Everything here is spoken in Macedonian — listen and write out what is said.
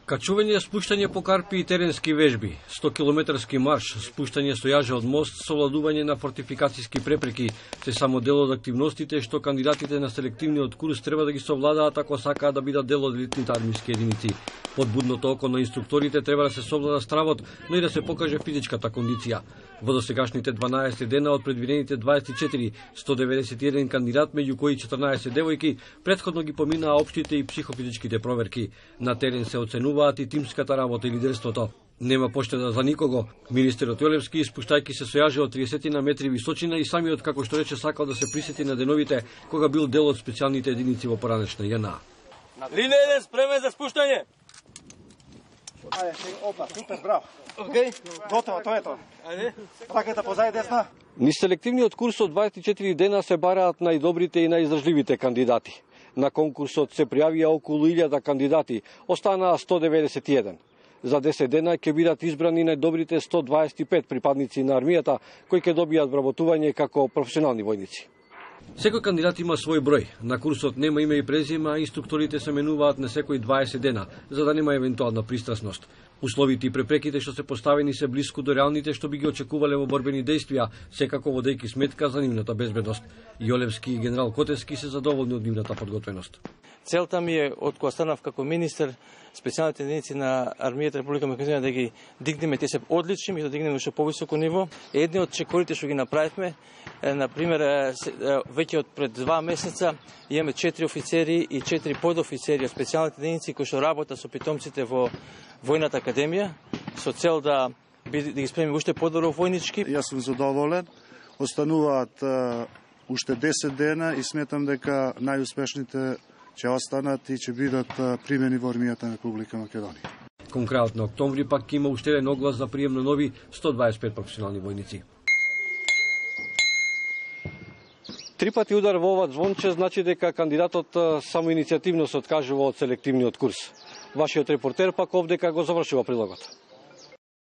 Качување, спуштање по карпи и теренски вежби, 100-километарски марш, спуштање со јаже од мост, совладување на фортификацијски препреки, се само дел од активностите што кандидатите на селективниот курс треба да ги совладаат ако сакаат да бидат дел од елитните армиски единици. Под будното око на инструкторите треба да се совлада стравот, но и да се покаже физичката кондиција. Во досегашните 12 дена од предвидените 24, 191 кандидат, меѓу кои 14 девојки, претходно ги поминаа општите и психофизичките проверки. На терен се оценуваат и тимската работа и лидерството. Нема поштеда за никого. Министерот Јолевски, спуштајќи се со јаже од 30 на метри височина и самиот, како што рече, сакал да се присети на деновите кога бил дел од специјалните единици во поранешна JNA. Линија 1 спремен за спуштање. Ајде, опа, супер, браво. Океј, готово, тоа е тоа. Ајде. Раката позади десна. Низ селективниот курс од 24 дена се бараат најдобрите и најиздржливите кандидати. На конкурсот се пријавија околу 1000 кандидати, останаа 191. За 10 дена ќе бидат избрани најдобрите 125 припадници на армијата, кои ќе добијат вработување како професионални војници. Секој кандидат има свој број. На курсот нема име и презиме, а инструкторите се менуваат на секој 20 дена, за да нема евентуална пристрасност. Условите и препреките што се поставени се блиску до реалните што би ги очекувале во борбени действија, секако водејќи сметка за нивната безбедност. Јолевски и генерал Котевски се задоволни од нивната подготвеност. Целта ми е, од кога станав како министер, специјалните единици на армијата Република Македонија да ги дигнеме, те се одлични и да дигнеме што повисоко ниво. Едни од чекорите што ги направивме, например, веќе од пред 2 месеца имаме 4 офицери и 4 подофицери од специјалните единици кои што работат со питомците во Војната академија со цел да ги спремиме уште подобро војнички. Јас сум задоволен. Остануваат уште 10 дена и сметам дека најуспешните ќе останат и ќе бидат примени во армијата на Република Македонија. Кон крајот на октомври пак има уште еден оглас за прием на нови 125 професионални војници. 3 пати удар во ова звонче значи дека кандидатот самоиницијативно се откажува од селективниот курс. Вашиот репортер пак овдека го завршува прилогот.